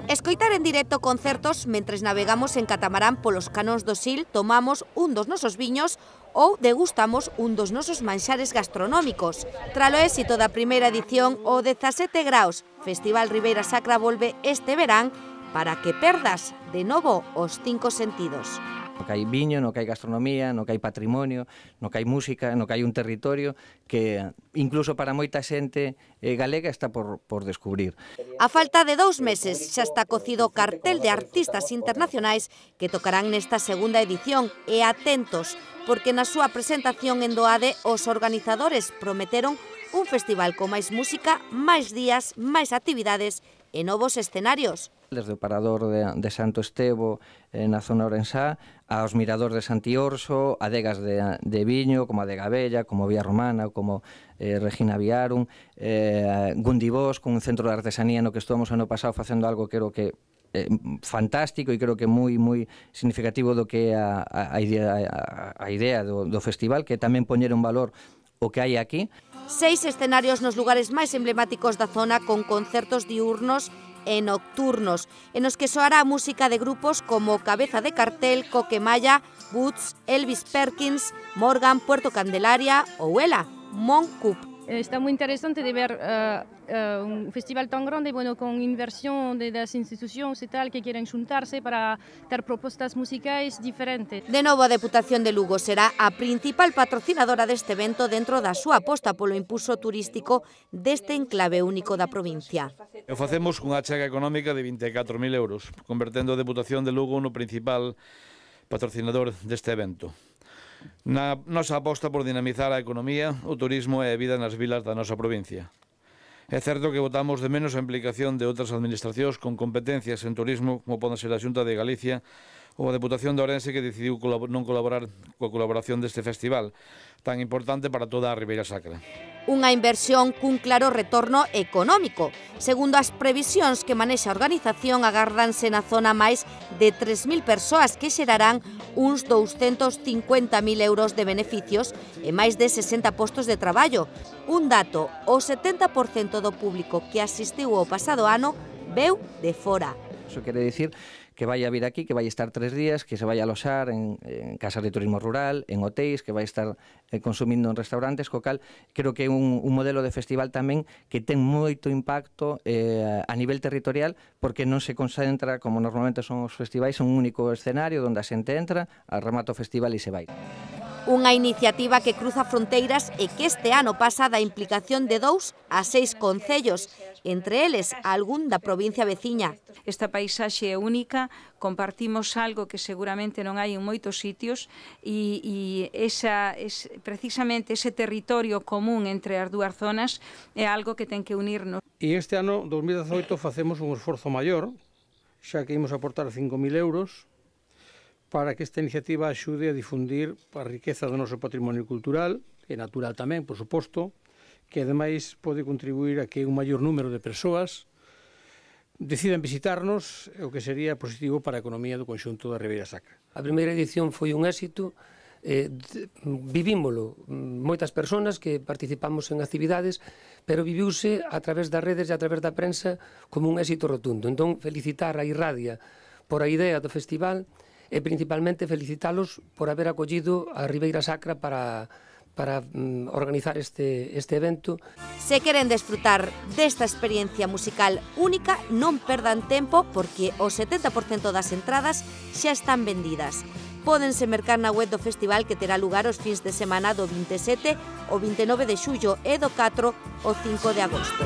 Escoitar en directo concertos mentres navegamos en catamarán polos canóns do Sil, tomamos un dos nosos viños ou degustamos un dos nosos manxares gastronómicos. Tralo éxito da primeira edición, o 17 graus Festival Ribeira Sacra volve este verán para que perdas de novo os 5 sentidos. No que hai viño, no que hai gastronomía, no que hai patrimonio, no que hai música, no que hai un territorio que incluso para moita xente galega está por descubrir. A falta de 2 meses xa está cocido o cartel de artistas internacionais que tocarán nesta segunda edición, e atentos, porque na súa presentación en Doade os organizadores prometeron un festival con máis música, máis días, máis actividades e novos escenarios. Desde o parador de Santo Estevo na zona orensá, aos miradores de Santiorso, adegas de viño, como a Adega Bella, como Vía Romana, como Regina Viarum, Gundibós, con un centro de artesanía no que estuvamos ano pasado facendo algo que creo que fantástico e creo que moi significativo do que é a idea do festival, que tamén poñer en valor o que hai aquí. 6 escenarios nos lugares máis emblemáticos da zona, con concertos diurnos e nocturnos, en os que soará música de grupos como Cabeza de Cartel, Coquemaya, Boots, Elvis Perkins, Morgan, Puerto Candelaria ou ela, Moncup. Está muy interesante de ver un festival tan grande, bueno, con inversión de las instituciones y tal, que quieren juntarse para dar propuestas musicales diferentes. De novo, a Deputación de Lugo será a principal patrocinadora deste evento dentro da súa aposta polo impulso turístico deste enclave único da provincia. O facemos cunha achega económica de 24.000 euros, convertendo a Deputación de Lugo no principal patrocinador deste evento. Na nosa aposta por dinamizar a economía, o turismo e a vida nas vilas da nosa provincia. É certo que votamos de menos a implicación de outras administracións con competencias en turismo, como poden ser a Xunta de Galicia ou a Deputación de Ourense, que decidiu non colaborar coa colaboración deste festival, tan importante para toda a Ribeira Sacra. Unha inversión cun claro retorno económico. Segundo as previsións que manexa a organización, agárdanse na zona máis de 3.000 persoas que xerarán uns 250.000 euros de beneficios e máis de 60 postos de traballo. Un dato, o 70% do público que asistiu ao pasado ano veu de fora. Eso quere dicir que vai a vir aquí, que vai estar 3 días, que se vai a aloxar en casas de turismo rural, en hotéis, que vai estar consumindo en restaurantes, co cal creo que é un modelo de festival tamén que ten moito impacto a nivel territorial, porque non se concentra, como normalmente son os festivais, un único escenario onde a xente entra, remata o festival e se vai. Unha iniciativa que cruza fronteiras e que este ano pasa da implicación de 2 a 6 concellos, entre eles algún da provincia veciña. Esta paisaxe é única, compartimos algo que seguramente non hai en moitos sitios e precisamente ese territorio común entre as dúas zonas é algo que ten que unirnos. E este ano, 2018, facemos un esforzo maior, xa que imos aportar 5.000 euros, para que esta iniciativa axude a difundir a riqueza do noso patrimonio cultural, e natural tamén, por suposto, que ademais pode contribuir a que un maior número de persoas decidan visitarnos, o que sería positivo para a economía do conxunto da Ribeira Sacra. A primeira edición foi un éxito, vivímolo moitas persoas que participamos en actividades, pero viviuse a través das redes e a través da prensa como un éxito rotundo. Entón, felicitar a Irradia por a idea do festival e principalmente felicitalos por haber acollido a Ribeira Sacra para organizar este evento. Se queren desfrutar desta experiencia musical única, non perdan tempo, porque o 70% das entradas xa están vendidas. Pódense mercar na web do festival, que terá lugar os fins de semana do 27 ao 29 de xullo e do 4 ao 5 de agosto.